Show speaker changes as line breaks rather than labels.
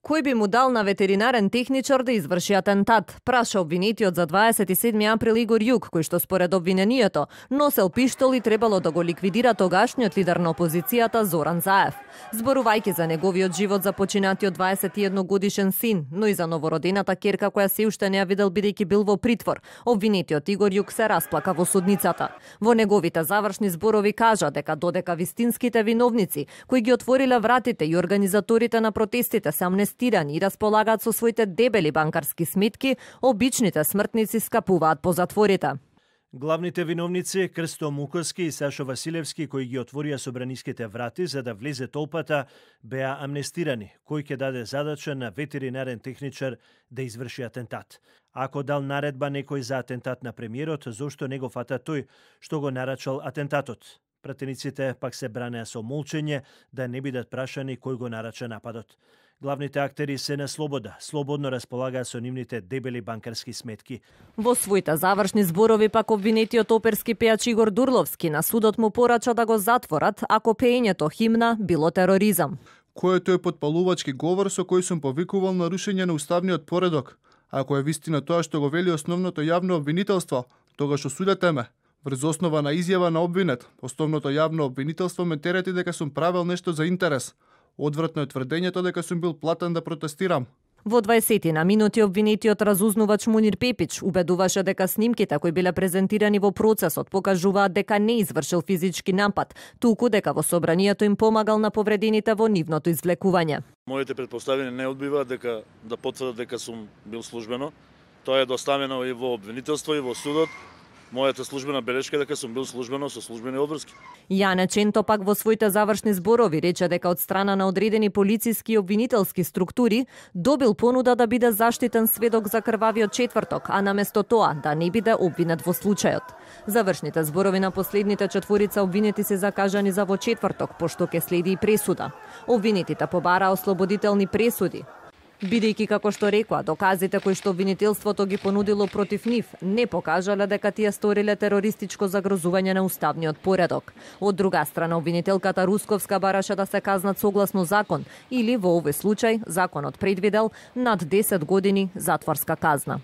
Кој би му дал на ветеринарен техничар да изврши атентат? Праша обвинетиот за 27 април Игор Јук, кој што според обвинението носел пиштол и требало да го ликвидира тогашниот лидер на опозицијата Зоран Заев. Зборувајќи за неговиот живот за починатиот 21 годишен син, но и за новородената ќерка која се уште не ја видел бидејќи бил во притвор, обвинетиот Игор Јук се расплака во судницата. Во неговите завршни зборови кажа дека додека вистинските виновници кои ги отвориле вратите и организаторите на протестите се амнестирани и располагаат со своите дебели банкарски сметки, обичните смртници скапуваат по затворите.
Главните виновници Крсто Муковски и Сашо Василевски, кои ги отворија собраниските врати за да влезе толпата, беа амнестирани, кој ќе даде задача на ветеринарен техничар да изврши атентат. Ако дал наредба некој за атентат на премиерот, зошто не го фата тој што го нарачал атентатот? Пратениците пак се бранеа со молчење да не бидат прашани кој го нарача нападот. Главните актери се на слобода, слободно располагаат со нивните дебели банкарски сметки.
Во своите завршни зборови пак обвинетиот оперски пејач Игор Дурловски на судот му порача да го затворат ако пеењето химна било тероризам.
Кој е тој потпалувачки говор со кој сум повикувал на рушење на уставниот поредок? Ако е вистина тоа што го вели основното јавно обвинителство, тогаш осудете ме. Врз основа на изјава на обвинет, основното јавно обвинителство ме терети дека сум правел нешто за интерес. Одвратно е тврдењето дека сум бил платен да протестирам.
Во 20 на минути обвинетиот разузнувач Мунир Пепич убедуваше дека снимките кои биле презентирани во процесот покажуваат дека не извршил физички напад, туку дека во собранието им помагал на повредените во нивното извлекување.
Моите претпоставени не одбиваат дека да потврдат дека сум бил службено. Тоа е доставено и во обвинителство и во судот. Мојата службена белешка е дека сум бил службено со службени обврски.
Јане Ченто пак во своите завршни зборови рече дека од страна на одредени полициски и обвинителски структури добил понуда да биде заштитен сведок за крвавиот четврток, а наместо тоа да не биде обвинет во случајот. Завршните зборови на последните четворица обвинети се закажани за во четврток, пошто ќе следи и пресуда. Обвинетите побараа ослободителни пресуди. Бидејќи, како што рекоа, доказите кои што обвинителството ги понудило против нив не покажале дека тие сториле терористичко загрозување на уставниот поредок. Од друга страна, обвинителката Русковска бараше да се казнат согласно закон или во овој случај законот предвидел над 10 години затворска казна.